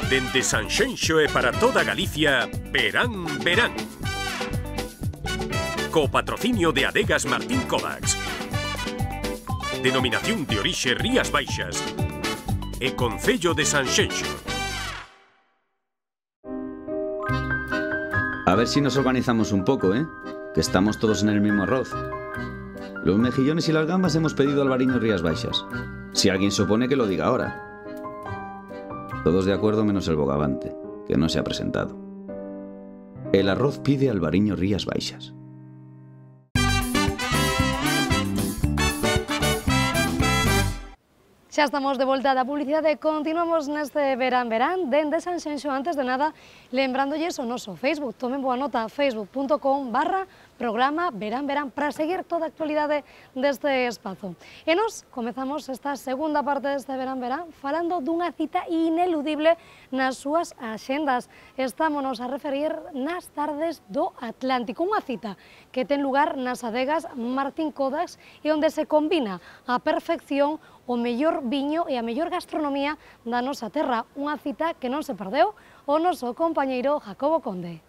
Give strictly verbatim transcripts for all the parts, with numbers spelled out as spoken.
Dende Sanxenxo e para toda Galicia, Verán, Verán. Co patrocinio de Adegas Martín Kodax. Denominación de orixe Rías Baixas. E Concello de Sanxenxo. A ver si nos organizamos un poco, ¿eh? Que estamos todos en el mismo arroz. Los mejillones y las gambas hemos pedido Alvariño Rías Baixas. Si alguien se opone, que lo diga ahora. Todos de acuerdo menos el bogavante, que no se ha presentado. El arroz pide Alvariño Rías Baixas. Xa estamos de volta da publicidade e continuamos neste Verán Verán dende Sanxenxo. Antes de nada, lembrándolle o noso Facebook. Tomen boa nota, facebook punto com barra programa Verán Verán para seguir toda a actualidade deste espazo. E nos comezamos esta segunda parte deste Verán Verán falando dunha cita ineludible nas súas axendas. Estámonos a referir nas tardes do Atlántico, unha cita que ten lugar nas adegas Martín Kodax e onde se combina a perfección o mellor viño e a mellor gastronomía da nosa terra. Unha cita que non se perdeu o noso compañeiro Jacobo Conde.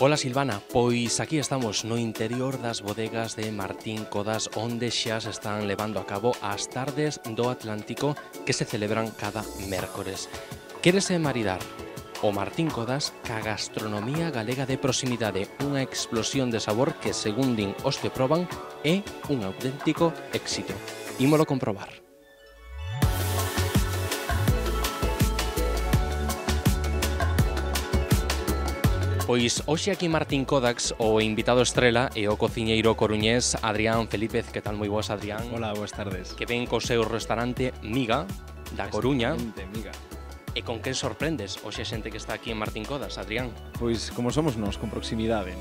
Ola Silvana, pois aquí estamos no interior das bodegas de Martín Kodax onde xa se están levando a cabo as tardes do Atlántico que se celebran cada mércores. Quérese maridar o Martín Kodax ca gastronomía galega de proximidade, unha explosión de sabor que, según din os que proban, é un auténtico éxito. Ímolo comprobar. Pois hoxe aquí Martín Kodax o invitado estrela e o cociñeiro coruñés Adrián Felípez. Que tal? Moi boas, Adrián. Hola, boas tardes. Que ven co seu restaurante Miga, da Coruña. Miga. E con quen sorprendes hoxe a xente que está aquí en Martín Kodax, Adrián? Pois como somos nós, con proximidade.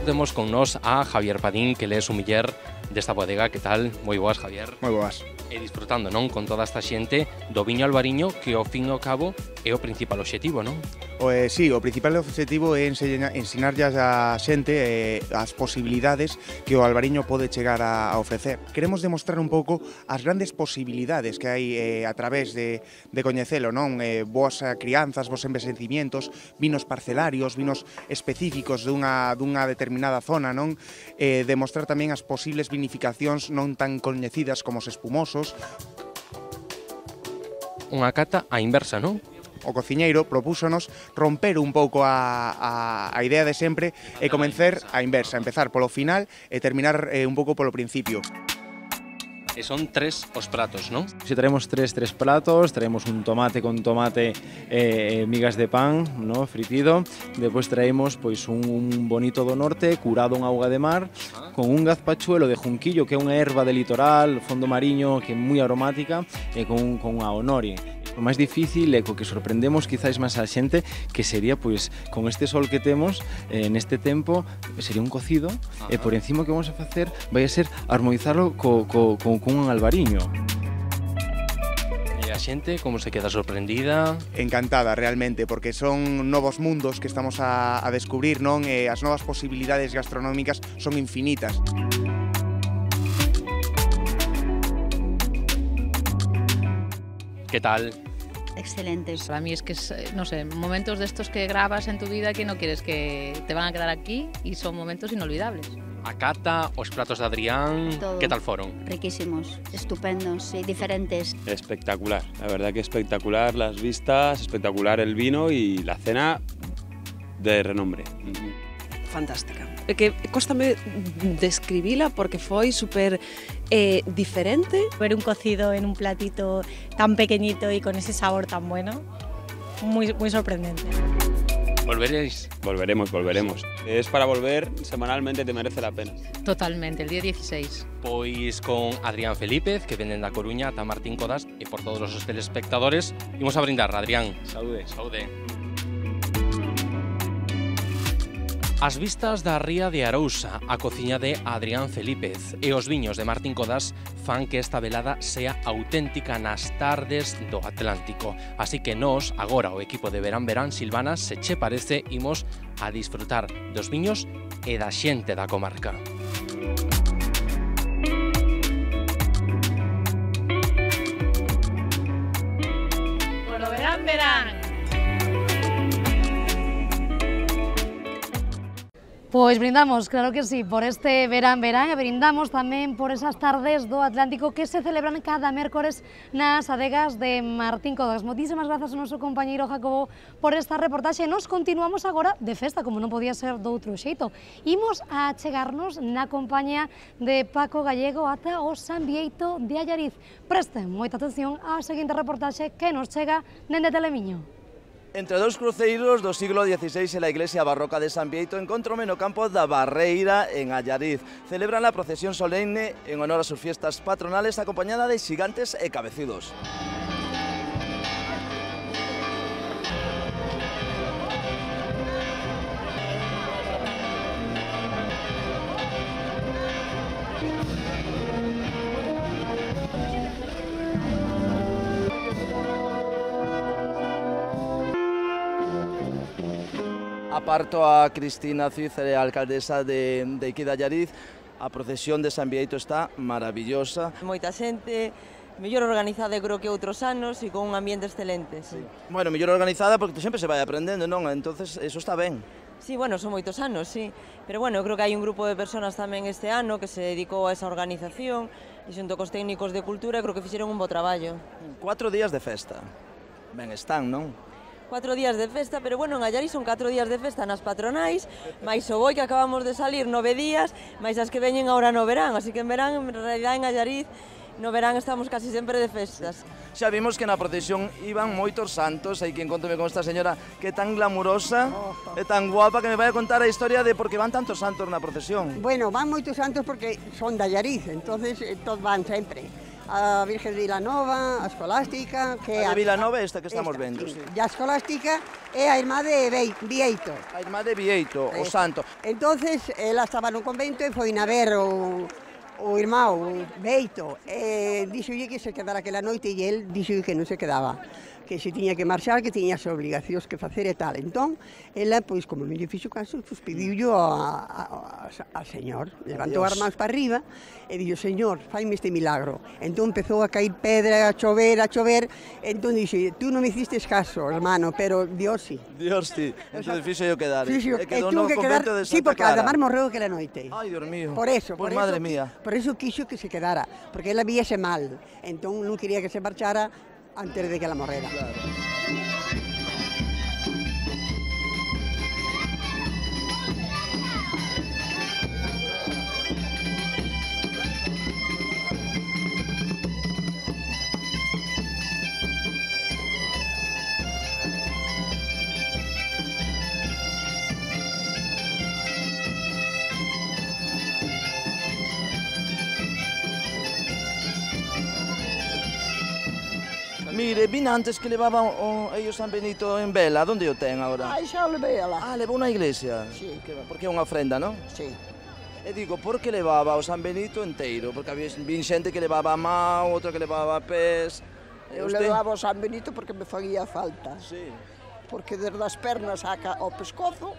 Temos con nós a Javier Padín, que le é sumiller desta bodega. Que tal? Moi boas, Javier. Moi boas. E disfrutando, non, con toda esta xente do viño albariño, que ao fin e ao cabo é o principal obxectivo, non? O, eh, sí, o principal obxectivo é ensinarlle a xente eh, as posibilidades que o albariño pode chegar a, a ofrecer. Queremos demostrar un pouco as grandes posibilidades que hai eh, a través de, de coñecelo, non? Eh, boas crianzas, bons envexecimientos, vinos parcelarios, vinos específicos dunha, dunha determinada zona, non? Eh, demostrar tamén as posibles vinificacións non tan coñecidas como os espumosos. Unha cata á inversa, non? O cociñeiro propúxonos romper un pouco a, a, a idea de sempre e comenzar a inversa, empezar polo final e terminar eh, un pouco polo principio. E son tres os pratos, non? Si traemos tres, tres platos, traemos un tomate con tomate e eh, migas de pan, ¿no? Fritido. Despois traemos pois un, un bonito do norte curado en auga de mar, ah. con un gazpachuelo de junquillo, que é unha erva de litoral, fondo mariño, que é moi aromática, e con, con a honori. O máis difícil e co que sorprendemos quizáis máis a xente que sería, pois, con este sol que temos eh, neste tempo, sería un cocido. Ajá. E por encima que vamos a facer vai a ser armonizarlo co, co, co, con un albariño. E a xente como se queda sorprendida? Encantada, realmente, porque son novos mundos que estamos a, a descubrir, non? E as novas posibilidades gastronómicas son infinitas. Que tal? Excelentes. Para mí es que, es, no sé, momentos de estos que grabas en tu vida que no quieres que te van a quedar aquí y son momentos inolvidables. A cata, os platos de Adrián, Todo. ¿qué tal fueron? Riquísimos, estupendos y diferentes. Espectacular, la verdad que espectacular las vistas, espectacular el vino y la cena de renombre. Fantástica. É que cóstame describila porque foi super eh, diferente. Ver un cocido en un platito tan pequeñito y con ese sabor tan bueno, muy, muy sorprendente. ¿Volveréis? Volveremos, volveremos. Es para volver semanalmente, te merece la pena. Totalmente, el día dieciséis. Pois con Adrián Felípez, que venden da Coruña, ata Martín Kodax, e por todos os telespectadores, imos a brindar, Adrián. Saúde. Saúde. As vistas da ría de Arousa, a cociña de Adrián Felípez e os viños de Martín Codas fan que esta velada sea auténtica nas tardes do Atlántico. Así que nós, agora o equipo de Verán Verán, Silvana, se che parece, imos a disfrutar dos viños e da xente da comarca. Polo Verán Verán. Pois brindamos, claro que sí, por este Verán Verán e brindamos tamén por esas tardes do Atlántico que se celebran cada mércores nas adegas de Martín Codas. Moitísimas grazas ao noso compañeiro Jacobo por esta reportaxe. Nos continuamos agora de festa, como non podía ser doutro xeito. Imos a chegarnos na compañía de Paco Gallego ata o San Bieito de Allariz. Presten moita atención á seguinte reportaxe que nos chega dende Telemiño. Entre dous cruceiros do siglo dieciséis e la iglesia barroca de San Bieito encontróme no campo da Barreira en Allariz. Celebran la procesión solemne en honor a sus fiestas patronales acompañada de xigantes e cabecidos. Aparto a Cristina Cícere, alcaldesa de, de aquí de Allariz. A procesión de San Bieito está maravillosa. Moita xente, mellor organizada creo que outros anos e con un ambiente excelente. Sí. Bueno, mellor organizada porque sempre se vai aprendendo, non? Entonces, eso está ben. Sí, bueno, son moitos anos, sí. Pero bueno, creo que hai un grupo de personas tamén este ano que se dedicou a esa organización e xunto cos técnicos de cultura creo que fixeron un bo traballo. Cuatro días de festa. Ben están, non? Cuatro días de festa, pero bueno, en Allariz son catro días de festa nas patronais, máis o boi que acabamos de salir nove días, máis as que veñen agora no verán, así que en verán, en realidad en Allariz, no verán estamos casi sempre de festas. Xa vimos que na procesión iban moitos santos, hai que encontrome con esta señora que é tan glamurosa, é tan guapa, que me vai a contar a historia de por que van tantos santos na procesión. Bueno, van moitos santos porque son de Allariz, entonces todos van sempre. A Virgen de Vilanova, a Escolástica... Que a de Vilanova esta que estamos esta, vendo. Sí. E a Escolástica é a irmá de Bieito. A irmá de Bieito, o santo. Entonces, ela estaba no convento e foi na ver o, o irmão Bieito. E dixolle que se quedara aquela noite e el dixolle que non se quedaba, que se tiña que marchar, que tiña as obligacións que facer e tal. Entón, ela, pois, como me lle fixo caso, pois, pediullo ao señor. Levantou as mans para arriba e dixo, señor, faime este milagro. Entón, empezou a cair pedra, a chover, a chover. Entón, dixe, tú non me hiciste caso, hermano, pero Dios sí. Dios sí. Entón, fixo yo quedar. Fixo, e quedou no convento de Santa Clara. Sí, porque además morreu aquela noite. Ai, Dios mío. Por eso, por eso, madre mía. Por eso quixo que se quedara, porque ela víase mal. Entón, non quería que se marchara antes de que la morrera. Claro. Mire, vin antes que levaban o, ellos San Benito en vela. Onde o ten agora? Ai, xa o levei alá. Ah, levou na iglesia? Sí. Que, porque é unha ofrenda, non? Sí. E digo, por que levaba o San Benito enteiro? Porque había vin xente que levaba a mão, outra que levaba a pés. Eu usted... levaba o San Benito porque me faría falta. Sí. Porque desde as pernas ao pescozo,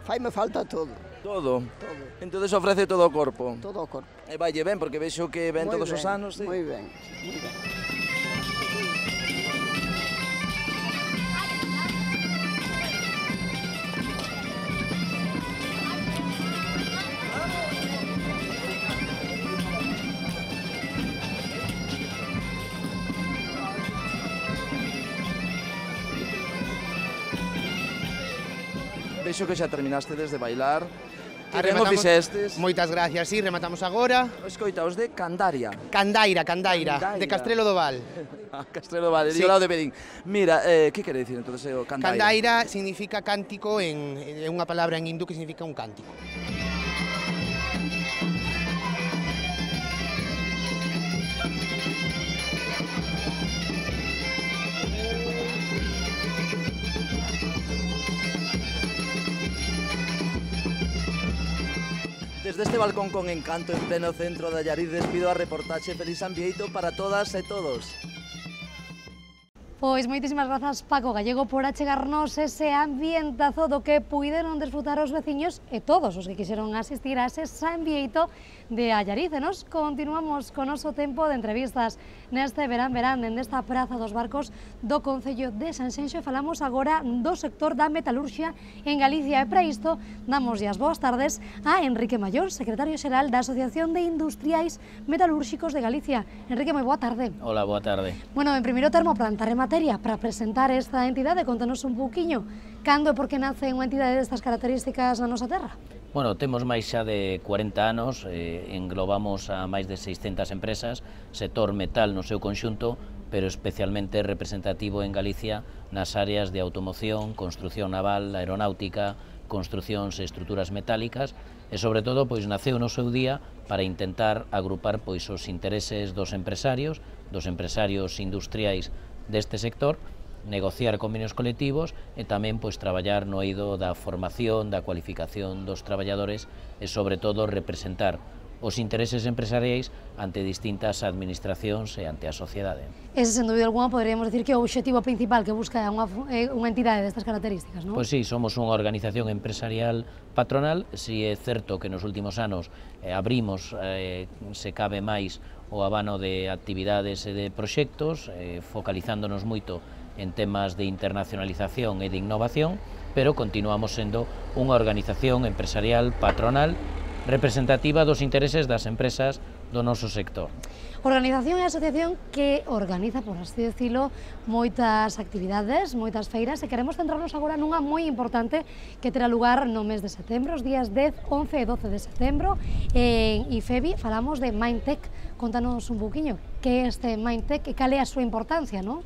faime falta todo. Todo? Todo. Entonces ofrece todo o corpo? Todo o corpo. E valle ben, porque vexo que ven muy todos ben, os anos. Sí. Moi ben, moi ben. Vexo que xa terminaste de bailar. Que ben o Rematamos- fixestes. Moitas gracias, sí, rematamos agora. Escoita, os de Candaria. Candaira, Candaira, Candaira. de Castrelo do Val. Ah, Castrelo Vale, Sí. sí. lado de Bedín. Mira, eh, que quere dicir entonces o Candaira? Candaira significa cántico, en, é unha palabra en hindú que significa un cántico. Desde este balcón con encanto en pleno centro de Allariz despido a reportaxe Feliz Ambieito para todas e todos. Pois moitísimas grazas, Paco Gallego, por achegarnos ese ambientazo do que puideron desfrutar os veciños e todos os que quixeron asistir a ese Ambieito de Allariz. E nos continuamos con noso tempo de entrevistas neste verán verán dende esta Praza dos Barcos do Concello de Sanxenxo e falamos agora do sector da metalurxia en Galicia. E para isto damos as boas tardes a Enrique Maior, secretario xeral da Asociación de Industriais Metalúrxicos de Galicia. Enrique, moi boa tarde. Hola, boa tarde. Bueno, en primeiro termo, plantar en materia para presentar esta entidade, contanos un pouquiño cando e por que nace unha entidade destas características na nosa terra? Bueno, temos máis xa de cuarenta anos, eh, englobamos a máis de seiscentas empresas, sector metal no seu conxunto, pero especialmente representativo en Galicia nas áreas de automoción, construción naval, aeronáutica, construcións e estruturas metálicas, e sobre todo pois naceu no seu día para intentar agrupar pois os intereses dos empresarios, dos empresarios industriais deste sector, negociar convenios colectivos e tamén pois traballar no eido da formación, da cualificación dos traballadores e sobre todo representar os intereses empresariais ante distintas administracións e ante a sociedade. Ese, sen dúbida alguna, poderíamos decir que o obxectivo principal que busca unha, unha entidade destas características, non? Pois sí, somos unha organización empresarial patronal, si é certo que nos últimos anos eh, abrimos, eh, se cabe máis, o abano de actividades e de proxectos, eh, focalizándonos moito en temas de internacionalización e de innovación, pero continuamos sendo unha organización empresarial patronal representativa dos intereses das empresas do noso sector. Organización e asociación que organiza, por así decirlo, moitas actividades, moitas feiras, e queremos centrarnos agora nunha moi importante que terá lugar no mes de setembro, os días dez, once e doce de setembro, en IFEBI. Falamos de Mindtech. Contanos un pouquiño que é este Mindtech e cal é a súa importancia, non?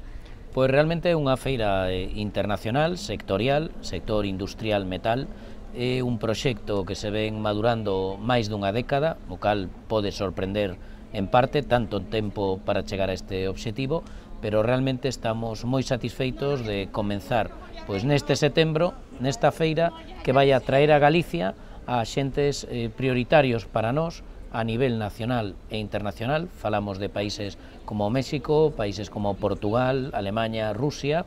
Pois realmente é unha feira internacional, sectorial, sector industrial metal. É un proxecto que se ven madurando máis dunha década, o cal pode sorprender en parte, tanto tempo para chegar a este obxectivo, pero realmente estamos moi satisfeitos de comenzar pois neste setembro, nesta feira, que vai a traer a Galicia a xentes eh, prioritarios para nós a nivel nacional e internacional. Falamos de países como México, países como Portugal, Alemanha, Rusia,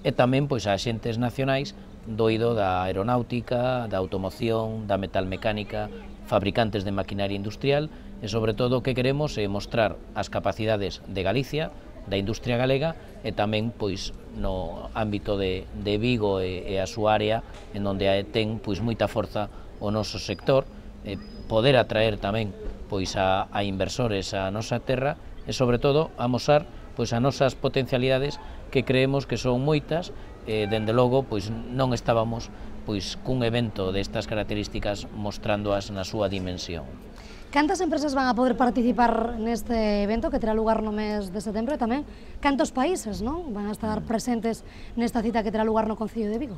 e tamén pois a xentes nacionais do eido da aeronáutica, da automoción, da metalmecánica, fabricantes de maquinaria industrial, e sobre todo o que queremos é mostrar as capacidades de Galicia, da industria galega, e tamén pois no ámbito de, de Vigo e, e a súa área, en onde ten pois moita forza o noso sector, e poder atraer tamén pois a, a inversores a nosa terra, e sobre todo amosar pois as nosas potencialidades, que creemos que son moitas. E, dende logo, pois non estábamos pois cun evento destas características mostrándoas na súa dimensión. Cantas empresas van a poder participar neste evento que terá lugar no mes de setembro, e tamén cantos países, non, van a estar presentes nesta cita que terá lugar no Concello de Vigo?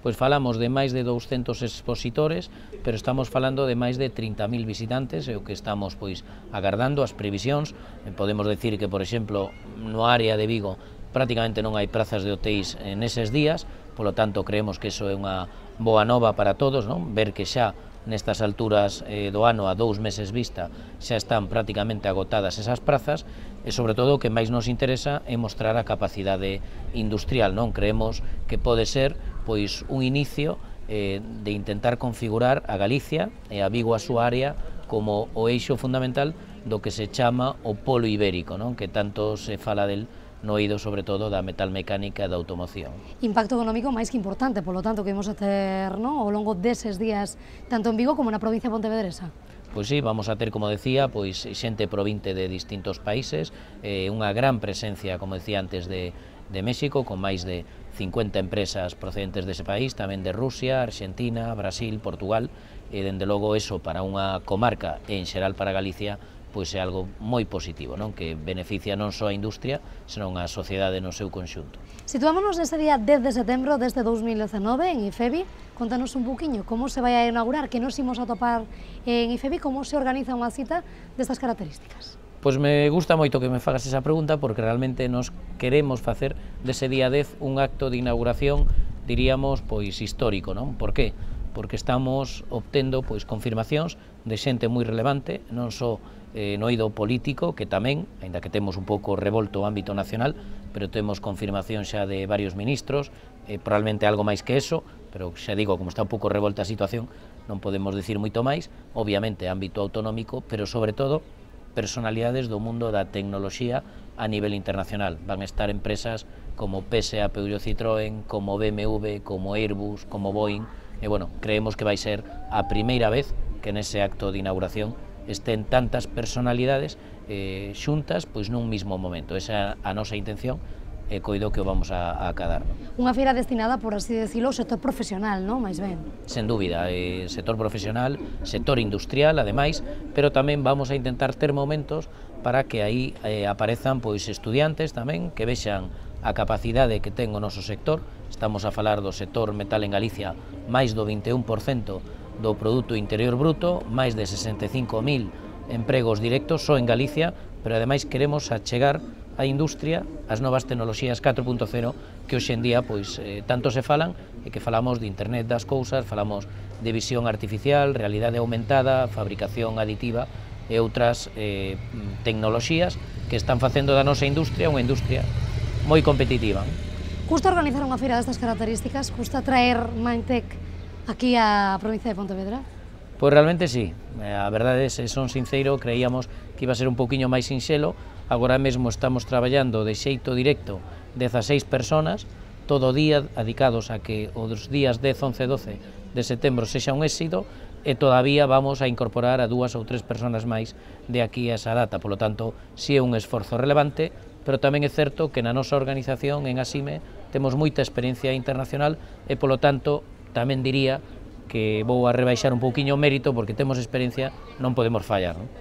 Pois falamos de máis de douscentos expositores, pero estamos falando de máis de trinta mil visitantes, e o que estamos pois agardando as previsións. Podemos decir que, por exemplo, no área de Vigo prácticamente non hai prazas de hotéis neses días, polo tanto creemos que iso é unha boa nova para todos, non? Ver que xa nestas alturas eh, do ano, a dous meses vista, xa están prácticamente agotadas esas prazas, e sobre todo o que máis nos interesa é mostrar a capacidade industrial, non? Creemos que pode ser pois un inicio eh, de intentar configurar a Galicia e a Vigo a súa área como o eixo fundamental do que se chama o polo ibérico, non? Que tanto se fala del no eido sobre todo da metalmecánica e da automoción. Impacto económico máis que importante, polo tanto, que imos a ter, non, ao longo deses días, tanto en Vigo como na provincia pontevedresa. Pois sí, vamos a ter, como decía, pois xente provinte de distintos países, eh, unha gran presencia, como decía antes, de, de México, con máis de cincuenta empresas procedentes dese país, tamén de Rusia, Argentina, Brasil, Portugal, e dende logo eso para unha comarca e en xeral para Galicia pois é algo moi positivo, non? Que beneficia non só a industria, senón a sociedade no seu conxunto. Situámonos nese día dez de setembro desde dous mil dezenove en IFEBI. Contanos un poquinho como se vai a inaugurar, que nos imos a topar en IFEBI, como se organiza unha cita destas características. Pois me gusta moito que me fagas esa pregunta, porque realmente nos queremos facer dese día dez un acto de inauguración, diríamos, pois histórico, non? Por que? porque estamos obtendo pois confirmacións de xente moi relevante, non só eh, no eido político, que tamén, aínda que temos un pouco revolto o ámbito nacional, pero temos confirmación xa de varios ministros, eh, probablemente algo máis que eso, pero xa digo, como está un pouco revolta a situación, non podemos dicir moito máis, obviamente ámbito autonómico, pero sobre todo personalidades do mundo da tecnoloxía a nivel internacional. Van a estar empresas como P S A, Peugeot, Citroën, como B M W, como Airbus, como Boeing, e bueno, creemos que vai ser a primeira vez que nese acto de inauguración estén tantas personalidades eh, xuntas pois nun mismo momento. Esa é a nosa intención e coido que o vamos a, a acadar. Unha feira destinada, por así decirlo, ao sector profesional, non? Mais ben. Sen dúbida, eh, sector profesional, sector industrial, ademais, pero tamén vamos a intentar ter momentos para que aí eh, aparezan pois estudiantes tamén que vexan a capacidade que ten o noso sector. Estamos a falar do sector metal en Galicia, máis do vinte e un por cento do Produto Interior Bruto, máis de sesenta e cinco mil empregos directos só en Galicia, pero ademais queremos achegar a industria as novas tecnoloxías catro punto cero que hoxe en día pois eh, tanto se falan e que falamos de Internet das cousas, falamos de visión artificial, realidade aumentada, fabricación aditiva e outras eh, tecnoloxías que están facendo da nosa industria unha industria moi competitiva. Custa organizar unha feira destas características? Custa traer Mindtech aquí á provincia de Pontevedra? Pois realmente sí, a verdade, se son sincero, creíamos que iba a ser un pouquiño máis sinxelo. Agora mesmo estamos traballando de xeito directo dezaseis personas, todo o día dedicados a que os días dez, once e doce de setembro sexa un éxito, e todavía vamos a incorporar a dúas ou tres personas máis de aquí a esa data. Por lo tanto, si é un esforzo relevante, pero tamén é certo que na nosa organización en Asime temos moita experiencia internacional e, polo tanto, tamén diría que vou a rebaixar un pouquiño o mérito, porque temos experiencia, non podemos fallar, non?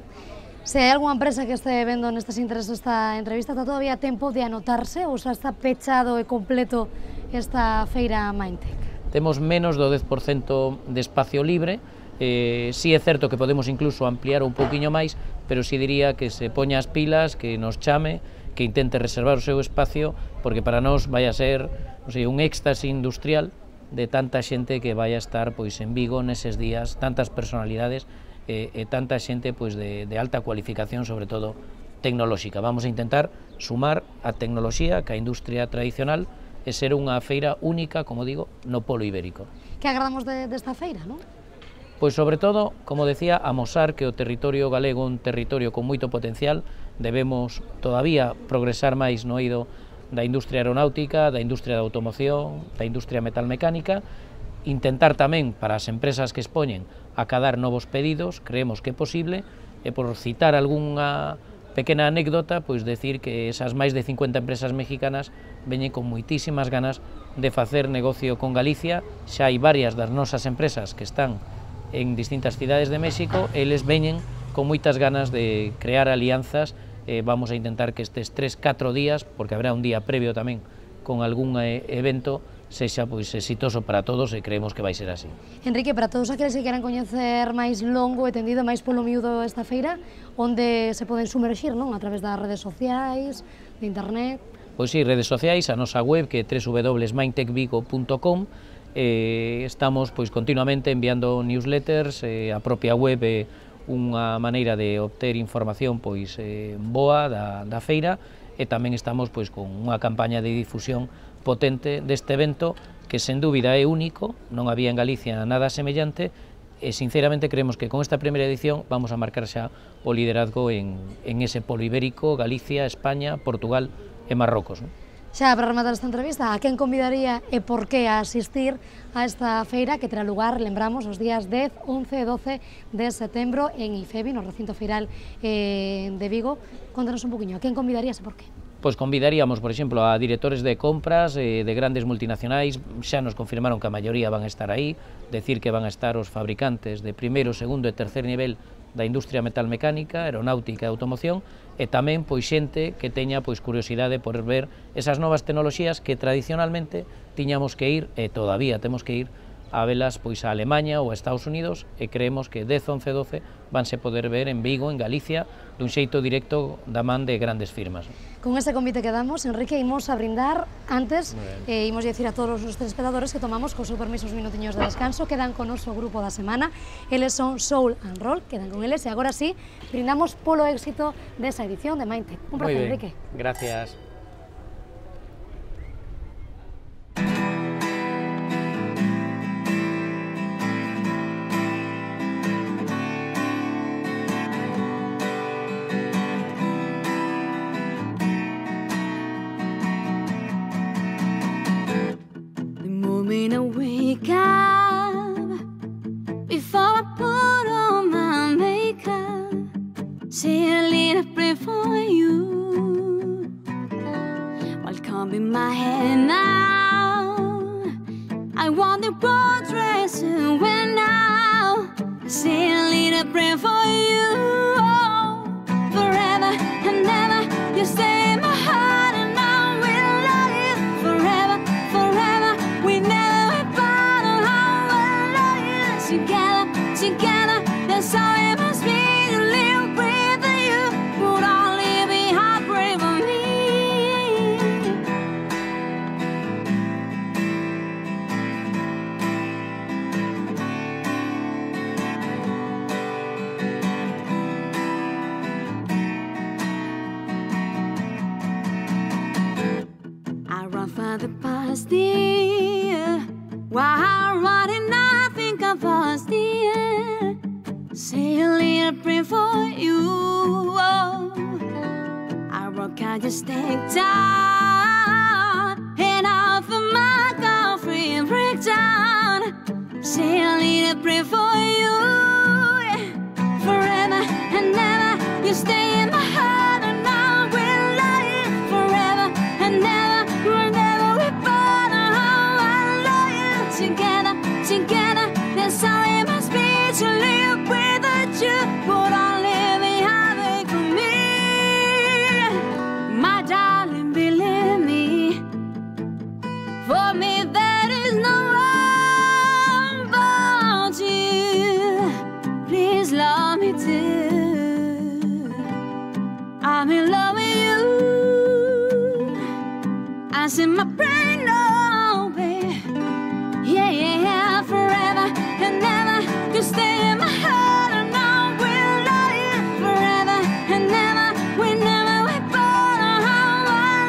Se hai algunha empresa que este vendo nestes intereses esta entrevista, está todavía a tempo de anotarse ou xa está pechado e completo esta feira Mindtech? Temos menos do dez por cento de espacio libre, eh, si é certo que podemos incluso ampliar un pouquiño máis, pero si diría que se poña as pilas, que nos chame, que intente reservar o seu espacio, porque para nós vai a ser, non sei, un éxtase industrial de tanta xente que vai a estar pois en Vigo neses días, tantas personalidades e, e tanta xente pois de, de alta cualificación, sobre todo tecnolóxica. Vamos a intentar sumar a tecnoloxía que a industria tradicional e ser unha feira única, como digo, no polo ibérico. Que agradamos de, desta feira, non? Pois sobre todo, como decía, amosar que o territorio galego é un territorio con moito potencial. Debemos todavía progresar máis no eido da industria aeronáutica, da industria da automoción, da industria metalmecánica, intentar tamén para as empresas que expoñen acadar novos pedidos, creemos que é posible, e por citar algunha pequena anécdota, pois decir que esas máis de cincuenta empresas mexicanas veñen con moitísimas ganas de facer negocio con Galicia. Xa hai varias das nosas empresas que están en distintas cidades de México, eles veñen con moitas ganas de crear alianzas. Eh, vamos a intentar que estes tres, catro días, porque habrá un día previo tamén con algún eh, evento, sexa pois exitoso para todos, e creemos que vai ser así. Enrique, para todos aqueles que queran coñecer máis longo e tendido, máis polo miúdo esta feira, onde se poden sumerxir, non? A través das redes sociais, de internet? Pois sí, redes sociais, a nosa web que é w w w punto mindtech vigo punto com. Eh, estamos pois continuamente enviando newsletters, eh, a propia web é unha maneira de obter información pois eh, boa da, da feira, e tamén estamos pois con unha campaña de difusión potente deste evento que sen dúbida é único, non había en Galicia nada semellante, e sinceramente creemos que con esta primeira edición vamos a marcar xa o liderazgo en, en ese polo ibérico, Galicia, España, Portugal e Marrocos, non? Xa, para rematar esta entrevista, a quen convidaría e por que a asistir a esta feira que terá lugar, lembramos, os días dez, once e doce de setembro en IFEBI, no recinto feiral eh, de Vigo? Contanos un poquinho, a quen convidarías e por que? Pois convidaríamos, por exemplo, a directores de compras eh, de grandes multinacionais. Xa nos confirmaron que a maioría van a estar aí, decir que van a estar os fabricantes de primeiro, segundo e tercer nivel da industria metalmecánica, aeronáutica e automoción, e tamén pois xente que teña pois curiosidade por ver esas novas tecnoloxías que tradicionalmente tiñamos que ir, e todavía temos que ir, a velas pois a Alemanha ou a Estados Unidos, e creemos que dez, once, doce vanse poder ver en Vigo, en Galicia, dun xeito directo da man de grandes firmas. Con ese convite que damos, Enrique, imos a brindar antes, eh, imos dicir a todos os telespectadores que tomamos co seu permiso os minutiños de descanso, quedan con noso grupo da semana, eles son Soul and Roll, quedan con eles, e agora sí, brindamos polo éxito desa edición de Mindtech. Un placer, Enrique. Gracias. When I wake up, before I put on my makeup, say a little prayer for you. While combing my hair now, I want the broad dress to wear now. Say a little prayer for you. Oh, forever and ever, you stay in my heart, and I will love you forever, forever. We never together, together, that's how it must be to live with you. Would only be heartbreak for me. I run for the past year, while I'm running out. Of us, dear, say a little prayer for you. Oh, I rock out just take down, and off of my girlfriend breakdown. Say a little prayer for you. Forever and ever, you stay in my heart, and I will love you forever and ever. Whenever we part, I love you together, together. That's how it must be to live without you. Would only be heartache for me. My darling, believe me, for me there is no one but you. Please love me too. I'm in love with you. I see my brain, oh baby. Yeah, yeah, yeah, forever and ever, you stay in my heart, and I will love you forever and ever. We never we part, I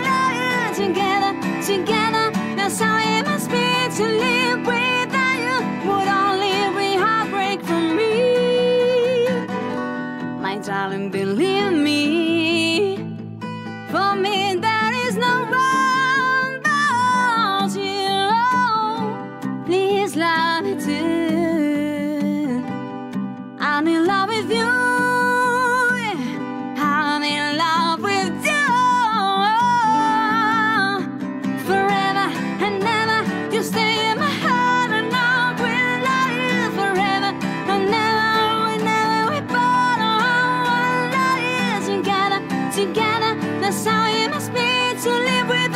love you together, together. That's how it must be to live without you. Would only be heartbreak for me. My darling, believe me, for me there is no one but you. Please love me too. I'm in love with you. I'm in love with you. Forever and ever, you stay in my heart, and I will love you forever and ever. Whenever we part, I will love you together, together. That's how it must be to live with